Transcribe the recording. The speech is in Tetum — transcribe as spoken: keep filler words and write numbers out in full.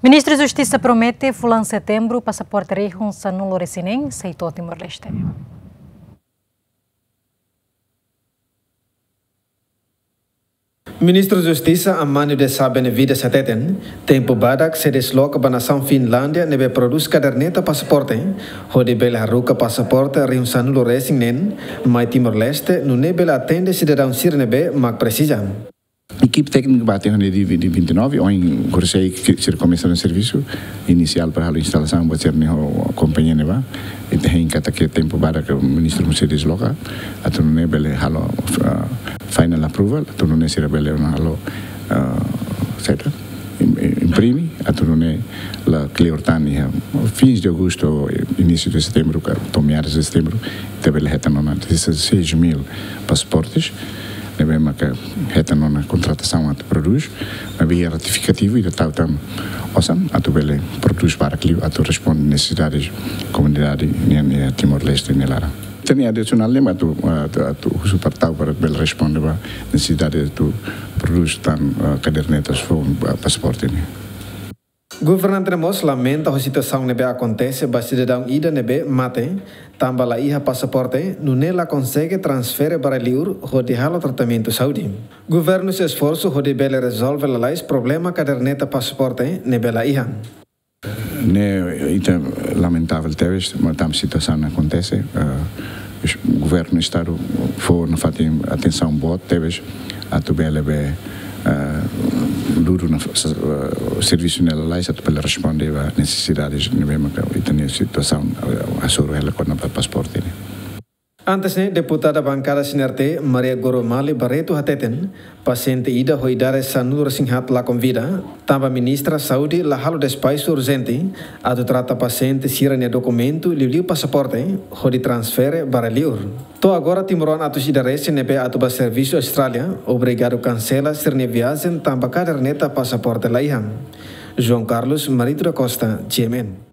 Ministru Justisa promete fulan Setembru pasaporte rihun sanulu-resin-neen sei to'o Timor-Leste. Ministru Justisa Amânio de Sá Benevides hateten, tempu badak sei desloka ba nasaun Finlándia ne'ebé prodús kaderneta pasaporte, hodi bele haruka pasaporte rihun sanulu-resin-neen mai Timor-Leste, nune'e bele atende sidadaun sira ne'ebé mak presiza. Ekipa téknika bá to'o iha dia, dia vinte e nove, ohin, kursei, sira komesa ona servisu inisiál para halo instalasaun, buat sira-ne'e ho kompañia ne'ebá. Ita hein katak iha tempu badak ministru mós sei desloka, atu nune'e bele halo, ah, final approval, atu nune'e sira bele ona halo, ah, saida, im-, im-, imprime, atu nune'e la kleur tan iha fins de agosto, início de setembro, ka to'o meados de setembro, ita bele hetan ona dezasseis mil pasaportes, ne'ebé maka hetan ona kontratasaun atu prodús, maibé ratifikativu ita tau tan osan atu bele prodús barak liu atu responde nesesidades komunidade nian iha Timor-Leste nia laran. Ita-nia adisionál ne'e atu, atu, atu husu para tau para bele responde ba nesesidade atu prodús tan, ah, kadernetas foun, ah, pasaporte ne'e. Governante ne'e mós lamenta ho situasaun ne'ebé akontese ba sidadaun ida ne'ebé mate, tanba la iha pasaporte, nune'e la konsege transfere ba rai-liur hodi halo tratamentu saúde. Governu sei esforsu hodi bele rezolve lalais problema kaderneta pasaporte ne'ebé la iha. Ne'e ita lamentavel tebes, maibé situasaun ne'e akontese, eh, governu estadu fó nafatin atensaun boot tebes, atu bele be, eh, dudu na, eh, servisu ne'e lalais atu bele responde ba nesesidades ne'ebé maka ita-nia situasaun, eh, hasoru hela kona-ba pasaporte ne'e. Antes ne'e, deputada bankada C N R T, Maria Goromali Barreto hateten, pasiente ida ho idade sanulu-resin-haat lakon vida, tanba ministra saúde la halo despaxu urjente atu trata pasiente sira-nia dokumentu, liuliu pasaporte, hodi transfere ba rai-liur. To'o agora timoroan atus ida resin ne'ebé atu ba servisu Austrália obrigadu kansela sira-nia viajen tanba kaderneta pasaporte la iha. João Carlos Marito da Costa, G M N.